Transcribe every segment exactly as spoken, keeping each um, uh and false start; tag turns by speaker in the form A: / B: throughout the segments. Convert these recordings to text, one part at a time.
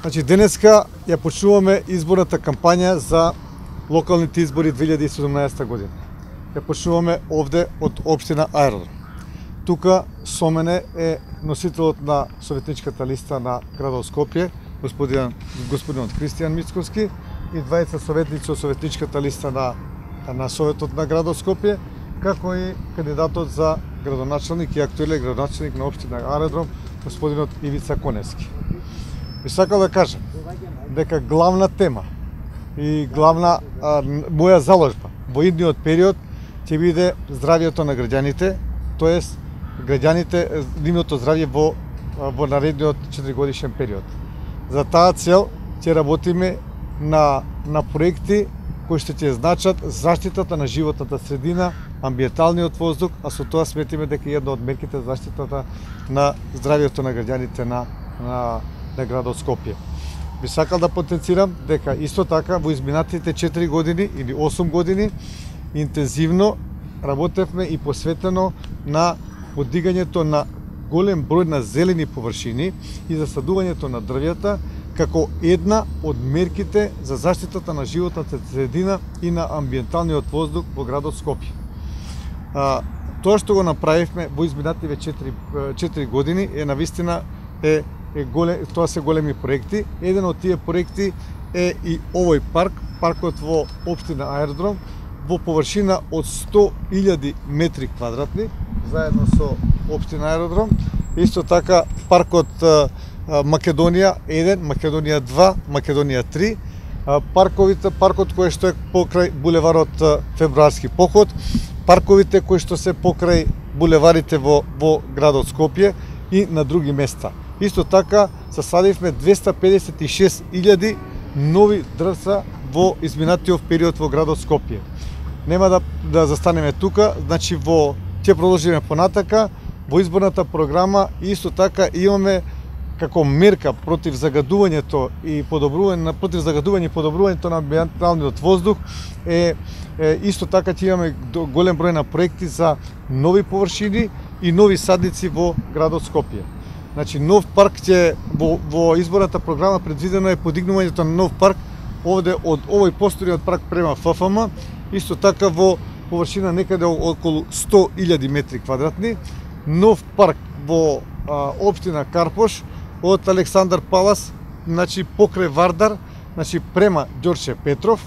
A: Значи, денеска ја почнуваме изборната кампања за локалните избори две илјади и седумнаесета година. Ја почнуваме овде од општина Аеродром. Тука со мене е носителот на советничката листа на градот Скопје, господин господинот Кристијан Мицковски, и двајца советници од советничката листа на на Советот на градот Скопје, како и кандидатот за градоначалник и актуелен градоначалник на општина Аеродром, господинот Ивица Коневски. Би сакал да кажам дека главна тема и главна а, моја заложба во идниот период ќе биде здравјето на граѓаните, тоест граѓаните, нивното здравје во во наредниот четиригодишен период. За таа цел ќе работиме на на проекти кои што ќе значат заштитата на животната средина, амбиенталниот воздух, а со тоа сметиме дека една од мерките за заштитата на здравјето на граѓаните на на на градот Скопје. Би сакал да потенцирам дека исто така во изминатите четири години или осум години интензивно работевме и посветено на подигањето на голем број на зелени површини и засадувањето на дрвјата како една од мерките за заштитата на животната средина и на амбиенталниот воздух во градот Скопје. А, тоа што го направивме во изминативе четири години е навистина е е голем, тоа се големи проекти. Еден од тие проекти е и овој парк, паркот во општина Аеродром, во површина од сто илјади метри квадратни, заедно со општина Аеродром. Исто така паркот Македонија еден, Македонија два, Македонија три, парковите, паркот кој што е покрај булеварот Февруарски поход, парковите кои што се покрај булеварите во во градот Скопје и на други места. Исто така засадивме двеста педесет и шест илјади нови дрвца во изминатиот период во градот Скопје. Нема да да застанеме тука, значи во ќе продолжиме понатака во изборната програма и исто така имаме како мерка против загадувањето и подобрување на против загадување и подобрувањето на амбиенталниот воздух е, е исто така ќе имаме голем број на проекти за нови површини и нови садници во градот Скопје. Значи нов парк ќе во, во изборната програма предвидено е подигнувањето на нов парк овде од овој постојниот парк према Ф Ф М, исто така во површина некаде околу сто илјади метри квадратни, нов парк во а, општина Карпош од Александар Палас, значи покрај Вардар, значи према Ѓорче Петров,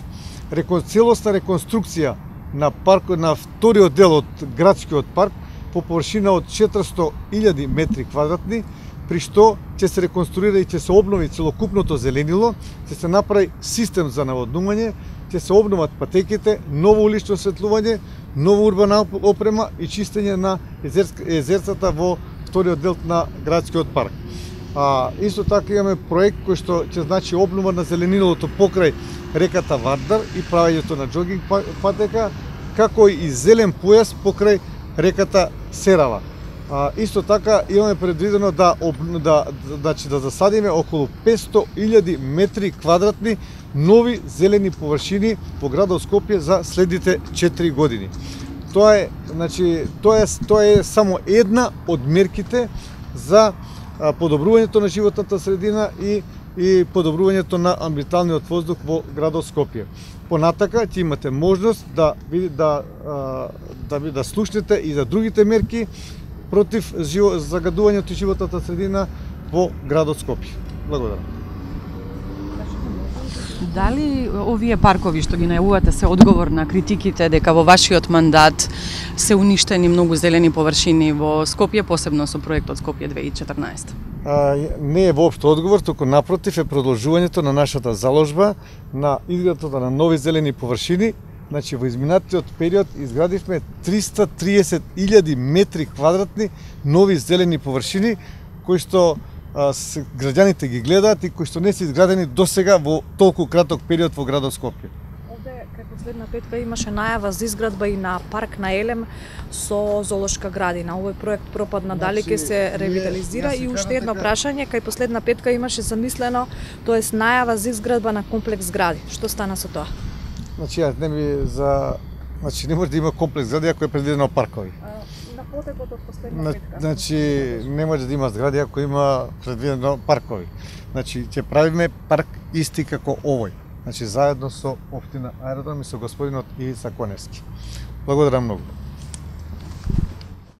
A: рекон, целосна реконструкција на парк на вториот дел од градскиот парк по површина од четиристо илјади метри квадратни, при што ќе се реконструира и ќе се обнови целокупното зеленило, ќе се направи систем за наводнување, ќе се обноват патеките, ново улично осветлување, нова урбана опрема и чистење на езерцата во вториот дел на градскиот парк. А, исто така имаме проект кој што ќе значи обнова на зеленилото покрај реката Вардар и правењето на џогинг патека, како и зелен појас покрај реката Серава. А, исто така имаме предвидено да да значи да засадиме околу петсто илјади метри квадратни нови зелени површини во градот Скопје за следните четири години. Тоа е, значи, тоа е тоа е само една од мерките за подобрувањето на животната средина и и подобрувањето на амбиенталниот воздух во градот Скопје. Понатака ќе имате можност да да да да, да слушнете и за другите мерки против живо, загадувањето и животната средина во градот Скопје. Благодарам.
B: Дали овие паркови што ги најавувате се одговор на критиките дека во вашиот мандат се уништени многу зелени површини во Скопје, посебно со проектот Скопје две илјади и четрнаесета?
A: А, не е воопшто одговор, туку напротив е продолжувањето на нашата заложба на изградата на нови зелени површини. Значи во изминатиот период изградивме триста триесет илјади метри квадратни нови зелени површини кои што а, с, граѓаните ги гледаат и кои што не се изградени досега во толку краток период во градот Скопје.
C: Овде кај последна петка имаше најава за изградба и на парк на Елем со зоолошка градина. Овој проект пропадна, дали ќе се ревитализира? И уште едно прашање, кај последна петка имаше замислено, тоест најава за изградба на комплекс згради. Што стана со тоа?
A: Значи, јас не ми за значи не може да има комплекс згради ако е предвидено паркови.
C: На потекот од последна петка.
A: Значи не може да има згради ако има предвидено паркови. Значи ќе правиме парк исти како овој. Значи заедно со општина Аеродром и со господинот Ивица Коневски. Благодарам многу.